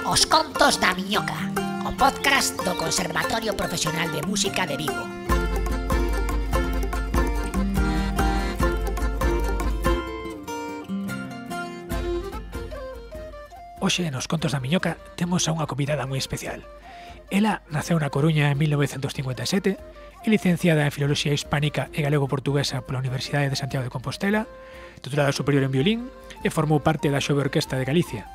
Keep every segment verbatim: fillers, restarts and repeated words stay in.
Os contos da miñoca, o podcast do Conservatorio Profesional de Música de Vigo. Hoxe, nos contos da miñoca, temos a unha convidada moi especial. Ela naceu na Coruña en mil novecentos cincuenta e sete, é licenciada en Filoloxía Hispánica e Galego-Portuguesa pola Universidade de Santiago de Compostela, titulada superior en violín e formou parte da Xove Orquestra de Galicia.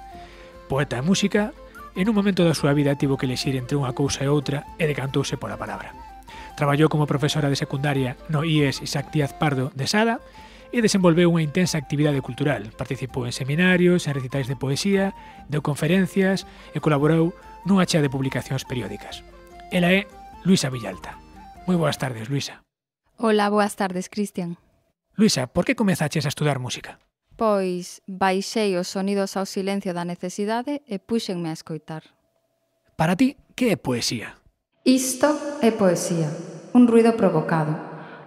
Poeta e música, en un momento da súa vida tivo que elexir entre unha cousa e outra e decantouse pola palabra. Traballou como profesora de secundaria no I E S Isaac Díaz Pardo de Sada e desenvolveu unha intensa actividade cultural. Participou en seminarios, en recitais de poesía, deu conferencias e colaborou nunha chea de publicacións periódicas. Ela é Luisa Villalta. Moi boas tardes, Luisa. Hola, boas tardes, Cristian. Luisa, por que comezaches a estudar música? Pois baixei os sonidos ao silencio da necesidade e puxenme a escoitar. Para ti, que é poesía? Isto é poesía, un ruido provocado,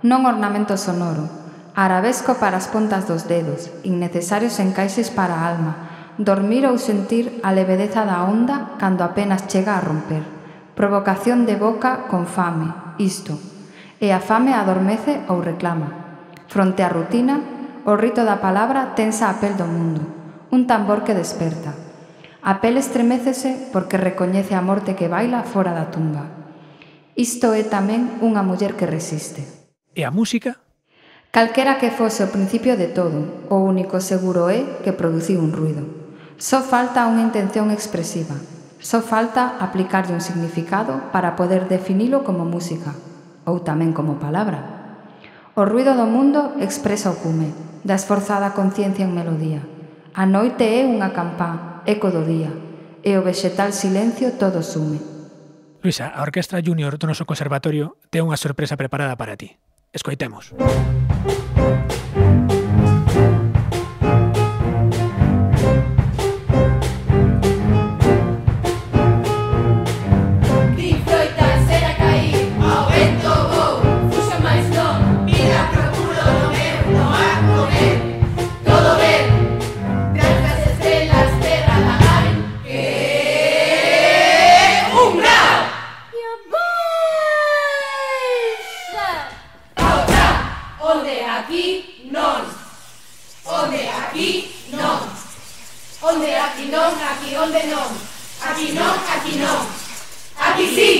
non ornamento sonoro, arabesco para as pontas dos dedos, innecesarios encaixes para a alma, dormir ou sentir a levedeza da onda cando apenas chega a romper, provocación de boca con fame, isto, e a fame adormece ou reclama. Fronte á rutina, o rito da palabra tensa a pel do mundo, un tambor que desperta. A pel estremécese porque recoñece a morte que baila fora da tumba. Isto é tamén unha muller que resiste. E a música? Calquera que fose o principio de todo, o único seguro é que produciu un ruido. Só falta unha intención expresiva. Só falta aplicarlle un significado para poder definilo como música, ou tamén como palabra. O ruido do mundo expresa o cume, da esforzada conciencia en melodía. A noite é unha campá, eco do día, e o vexetal silencio todo sume. Luisa, a Orquestra Júnior do noso conservatorio ten unha sorpresa preparada para ti. Escoitemos. Onde aquí non, aquí onde non. Aquí non, aquí non. Aquí sí.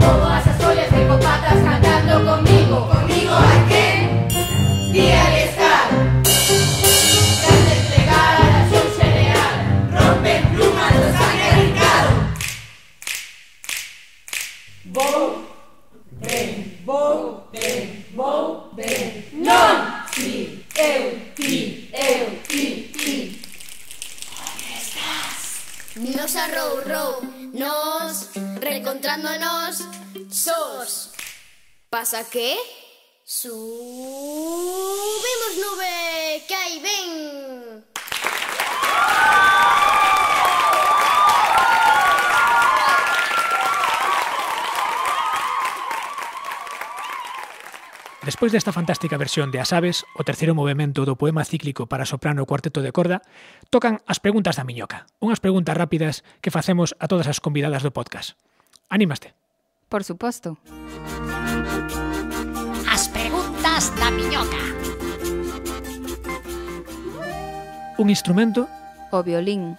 Movo as follas de copatas cantando conmigo. Conmigo a quen? Día de estar. Gran desplegar a la xón xereal. Rompen plumas do sangue arrancado. Vou, ben, vou, ben, vou, ben. Non! Si, eu, ti, eu, ti, ti. Onde estás? Nos a rou, rou, nos reencontrándonos sos. Pasa que? Subimos nube, que aí ven. Despois desta fantástica versión de As aves, o terceiro movemento do poema cíclico para soprano e cuarteto de corda, tocan as preguntas da miñoca, unhas preguntas rápidas que facemos a todas as convidadas do podcast. Anímaste? Por suposto. As preguntas da miñoca. Un instrumento? O violín.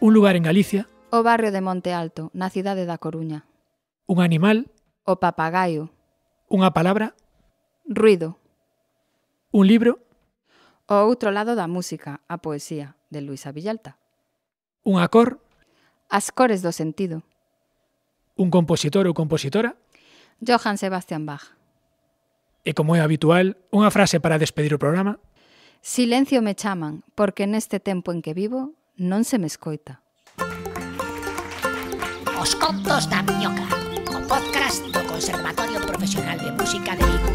Un lugar en Galicia? O barrio de Monte Alto, na cidade da Coruña. Un animal? O papagaio. Unha palabra? Ruido. Un libro? O outro lado da música, a poesía, de Luisa Villalta. Unha cor? As cores do sentido. Un compositor ou compositora? Johann Sebastian Bach. E como é habitual, unha frase para despedir o programa? Silencio me chaman, porque neste tempo en que vivo non se me escoita. Os contos da miñoca, o podcast do Conservatorio Profesional de Música de Vigo.